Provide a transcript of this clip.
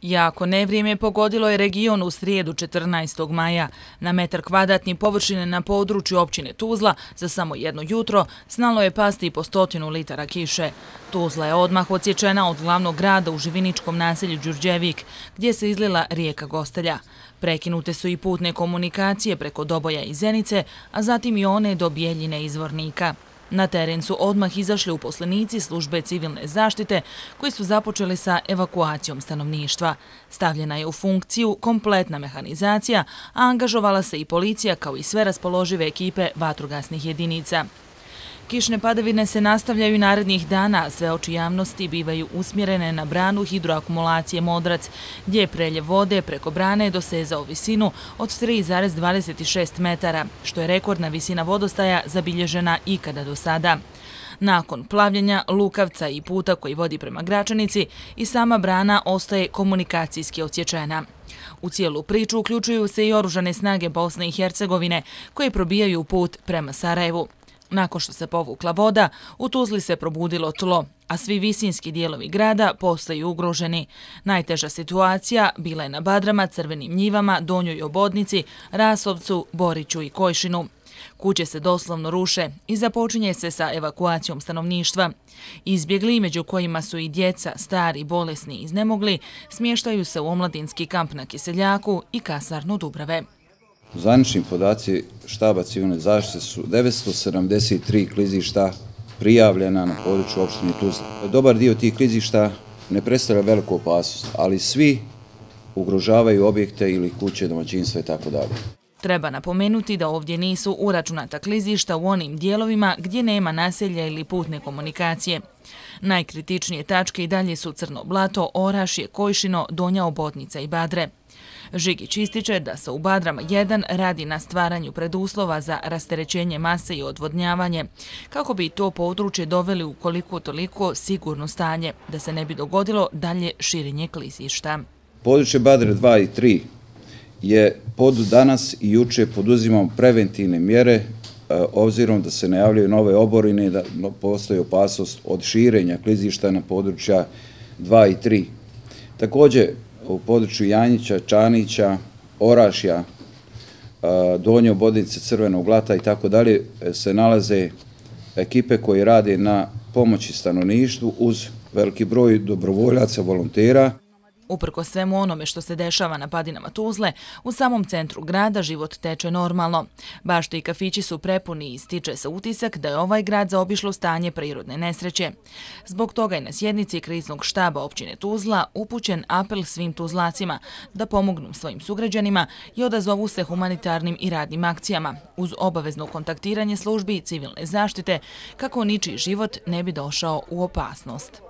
Jako nevrijeme pogodilo je region u srijedu 14. maja. Na metar kvadratni površine na području općine Tuzla za samo jedno jutro znalo je pasti po 100 litara kiše. Tuzla je odmah odsječena od glavnog grada u živiničkom naselju Đurđevik, gdje se izlila rijeka Gostelja. Prekinute su i putne komunikacije preko Doboja i Zenice, a zatim i one do Bijeljine i Zvornika. Na teren su odmah izašli uposlenici službe civilne zaštite koji su započeli sa evakuacijom stanovništva. Stavljena je u funkciju kompletna mehanizacija, a angažovala se i policija kao i sve raspoložive ekipe vatrogasnih jedinica. Kišne padavine se nastavljaju i narednih dana, a sve oči javnosti bivaju usmjerene na branu hidroakumulacije Modrac, gdje je preljev vode preko brane dosezao visinu od 3,26 metara, što je rekordna visina vodostaja zabilježena ikada do sada. Nakon plavljenja Lukavca i puta koji vodi prema Gračanici, i sama brana ostaje komunikacijski odsječena. U cijelu priču uključuju se i oružane snage Bosne i Hercegovine, koje probijaju put prema Sarajevu. Nakon što se povukla voda, u Tuzli se probudilo tlo, a svi visinski dijelovi grada postaju ugroženi. Najteža situacija bila je na Badrama, Crvenim njivama, Donjoj Obodnici, Rasovcu, Boriću i Kojšinu. Kuće se doslovno ruše i započinje se sa evakuacijom stanovništva. Izbjegli, među kojima su i djeca, stari, bolesni i iznemogli, smještaju se u omladinski kamp na Kiseljaku i kasarnu Dubrave. Zvanični podaci štaba civilne zaštite su 973 klizišta prijavljena na području opštine Tuzla. Dobar dio tih klizišta ne predstavlja veliku opasnost, ali svi ugrožavaju objekte ili kuće, domaćinstva itd. Treba napomenuti da ovdje nisu uračunata klizišta u onim dijelovima gdje nema naselja ili putne komunikacije. Najkritičnije tačke i dalje su Crno Blato, Orašje, Kojšino, Donja Obodnica i Badre. Žigić ističe da se u Badrama 1 radi na stvaranju preduslova za rasterećenje mase i odvodnjavanje, kako bi to područje doveli u koliko toliko sigurno stanje, da se ne bi dogodilo dalje širenje klizišta. Područje Badre 2 i 3 je danas i juče poduzimamo preventivne mjere, obzirom da se najavljaju nove oborine i da postoji opasnost od širenja klizišta na područja 2 i 3. Također, u području Janjića, Čanića, Orašja, Donje Obodnice, Crvenog Blata i tako dalje se nalaze ekipe koje rade na pomoći stanovništvu uz veliki broj dobrovoljaca, volontera. Uprkos svemu onome što se dešava na padinama Tuzle, u samom centru grada život teče normalno. Bašte i kafići su prepuni i stiče se utisak da je ovaj grad zaobišlo stanje prirodne nesreće. Zbog toga je na sjednici kriznog štaba općine Tuzla upućen apel svim Tuzlacima da pomognu svojim sugrađanima i odazovu se humanitarnim i radnim akcijama, uz obavezno kontaktiranje službi civilne zaštite kako ničiji život ne bi došao u opasnost.